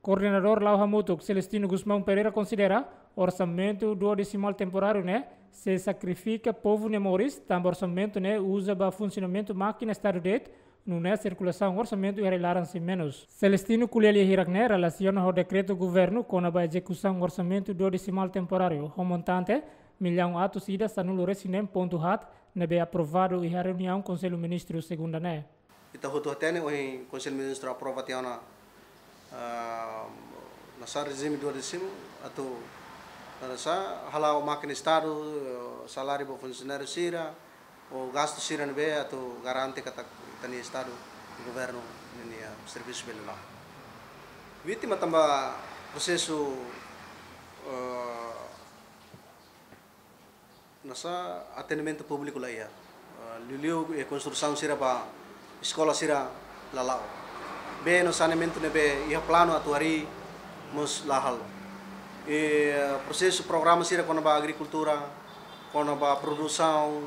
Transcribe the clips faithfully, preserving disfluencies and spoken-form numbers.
Koordenadór La'o Hamutuk, Celestino Gusmão Pereira, konsidera orsamentu duodesimal temporáriu ne'e sei sakrifika povu nia moris, tanba orsamentu ne'e uza ba funsionamentu mákina Estadu de'it, nune'e sirkulasaun orsamentu iha rai-laran sei menus. Celestino ko'alia hirak ne'e relasiona ho dekretu governu kona-ba ezekusaun orsamentu duodesimal temporáriu, ho montante millaun atus ida sanulu-resin-neen pontu haat, ne'ebé aprovadu iha reuniaun Konsellu Ministru segunda ne'e. Ita hotu hatene ohin Konsellu Ministru aprova tiha ona, ah, nasaun rejime duodesimal atu, ah, nasaun hala'o mákina Estadu, eh, saláriu ba funsionáriu sira, ou gastu sira ne'ebé atu garante katak ita-nia Estadu, governu ninia servisu bele la'o. Vítima tanba prosesu, eh, nasaun atendimentu públiku la iha. Eh, liuliu, eh, konstrusaun sira ba eskola sira la la'o. Bee no saneamentu ne'ebé iha planu atu harii mós la halo. Eh, prosesu programa sira kona-ba agrikultura, kona-ba produsaun,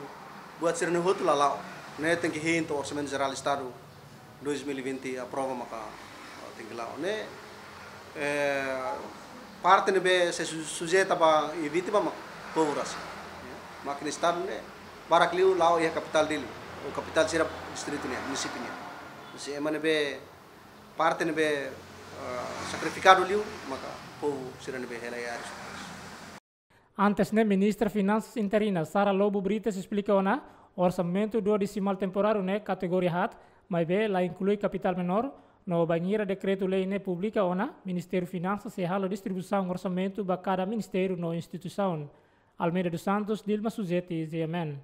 buat sira-ne'e hotu la la'o. Ne'e tenke hein to'o Orsamentu Jerál Estadu dois mil e vinte aprova maka, ah, tenke la'o. Ne'e, eh, parte ne'ebé sei su-, sujeita ba i vítima mak povu rasik. Mákina Estadu ne'e barak liu la'o iha kapitál Dili, ou kapitál sira distritu nian, munisípiu nian. Sei ema ne'ebé parte ne'ebé, eh, sakrifikadu liu maka povu sira ne'ebé hela iha área. Antes ne'e, Ministra Finansas interina Sara Lobo Brites esplika ona orsamentu duodesimal temporáriu ne'e kategoria haat, maibé la inklui kapitál menór, no bainhira dekretu-lei ne'e publika ona, Ministériu Finansas sei halo distribuisaun orsamentu ba kada ministériu no instituisaun. Almeida dos Santos, Dilma Suzeti, G M N.